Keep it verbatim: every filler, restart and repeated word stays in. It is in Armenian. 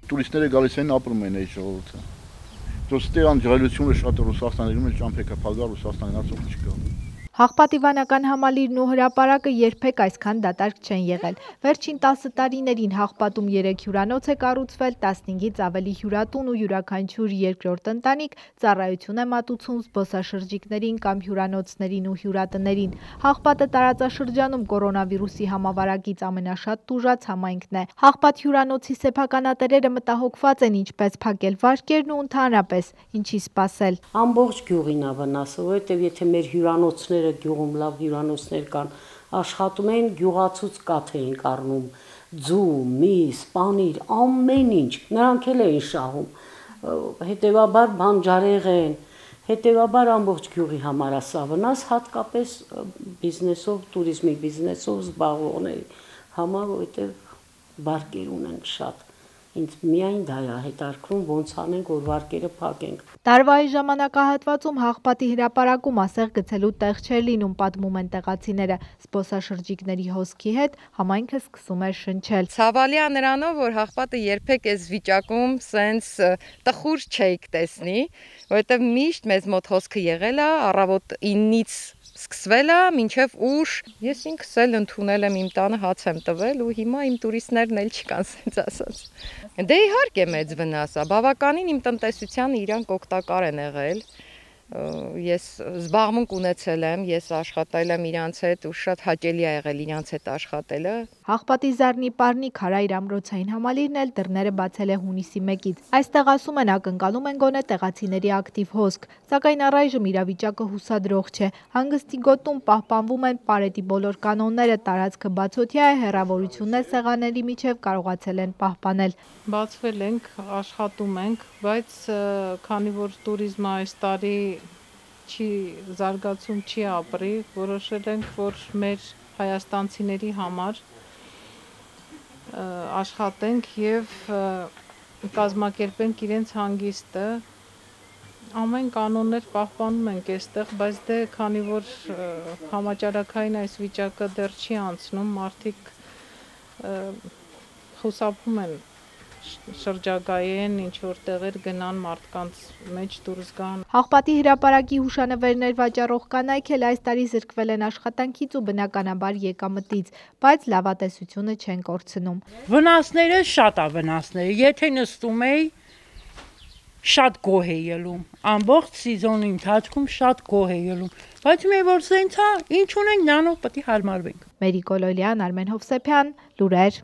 Տուրիստները գալիս են ապրում են այդ ժողովուրդը։ Դուք ստեղան ջրելությունը շատ Ռուսաստանում էլ ճամփեքա փագա Ռուսաստանին ասող չկա։ Հաղպատիվանական համալիրն ու հրապարակը երբեք այսքան դատարկ չեն եղել։ Վերջին տասը տարիներին Հաղպատում երեք հյուրանոց է կառուցվել, տասնհինգից ավելի հյուրատուն ու յուրաքանչյուր երկրորդ ընտանիք ծառայություն է մատուցում զբոսաշրջիկներին կամ հյուրանոցներին ու հյուրատներին։ Հաղպատը տարածաշրջանում կորոնավիրուսի համավարակից ամենաշատ տուժած համայնքն է։ Հաղպատ հյուրանոցի սեփականատերերը մտահոգված են ինչպես փակել վարկերն ու ընդհանրապես ինչի սպասել։ Ամբողջ գյուղին է վնասը, որովհետև եթե մեր հյուրանոցները գյուղում լավ հյուրանոցներ կան, աշխատում են գյուղացուց կաթ էին կառնում, ձու, միս, պանիր, ամեն ինչ, նրանք էլ էին շահում, հետևաբար բանջարեղեն, հետևաբար ամբողջ գյուղի համար է սա վնաս, հատկապես բիզնեսով, տուրիզմի բիզնեսով զբաղվողների համար, որովհետև վարկեր ունեն շատ։ Ինձ միայն դա է հետաքրքրում ոնց անենք, որ վարկերը փակենք։ Տարվա այս ժամանակահատվածում Հաղպատի հրապարակում ասեղ գցելու տեղ չէր լինում, պատմում են տեղացիները։ Զբոսաշրջիկների հոսքի հետ համայնքը սկսում էր շնչել։ Ցավալի է նրանով, որ Հաղպատը երբեք այս վիճակում սենց տխուր չէիք տեսնի, որովհետև միշտ մեզ մոտ հոսքը եղել է, առավոտ ինից սկսվել է, մինչև ուշ։ Ես ինքս էլ ընդունել եմ իմ տանը հաց եմ տվել ու հիմա իմ տուրիստներն էլ չկան, սենց ասած։ Դե իհարկե մեծ վնաս է, բավականին իմ տնտեսությանը իրանք օգտակար են եղել։ Ես զբաղմունք ունեցել եմ, ես աշխատել եմ իրանց հետ ու շատ հաճելի է եղել իրանց հետ աշխատելը։ Հաղպատի Զարնի Պարնի Քարայր ամրոցային համալիրն էլ դռները բացել է հունիսի մեկից։ Այստեղ ասում են ակնկալում են գոնե տեղացիների ակտիվ հոսք, սակայն առայժմ իրավիճակը հուսադրող չէ։ Հանգստի գոտում պահպանվում են Պարետի բոլոր կանոնները, տարածքը բացօթյա է, հեռավորություններ սեղանների միջև կարողացել են պահպանել։ Բացվել ենք, աշխատում ենք, բայց քանի որ տուրիզմը այս տարի չի զարգացում չի ապրի, որոշել ենք, որ մեր հայաստանցիների համար աշխատենք եւ կազմակերպենք իրենց հանգիստը, ամեն կանոններ պահպանում ենք այստեղ, բայց դե քանի որ համաճարակային այս վիճակը դեռ չի անցնում, մարդիկ խուսափում են շրջագայեն ինչ որ տեղեր գնան մարդկանց մեջ դուրս գան։ Հաղպատի հրապարակի հուշանվերներ վաճառող կանայք էլ այս տարի զրկվել են աշխատանքից ու բնականաբար եկամտից, բայց լավատեսությունը չեն կորցնում։ Վնասները շատ է վնասները, եթե նստում էի շատ գոհ է ելում, ամբողջ սեզոնի ընթացքում շատ գոհ է ելում, բայց մի որ սենց է, ինչ ունենք նրանով պետք է հարմարվենք։ Մերի Կոլոյան, Արմեն Հովսեփյան, լուրեր։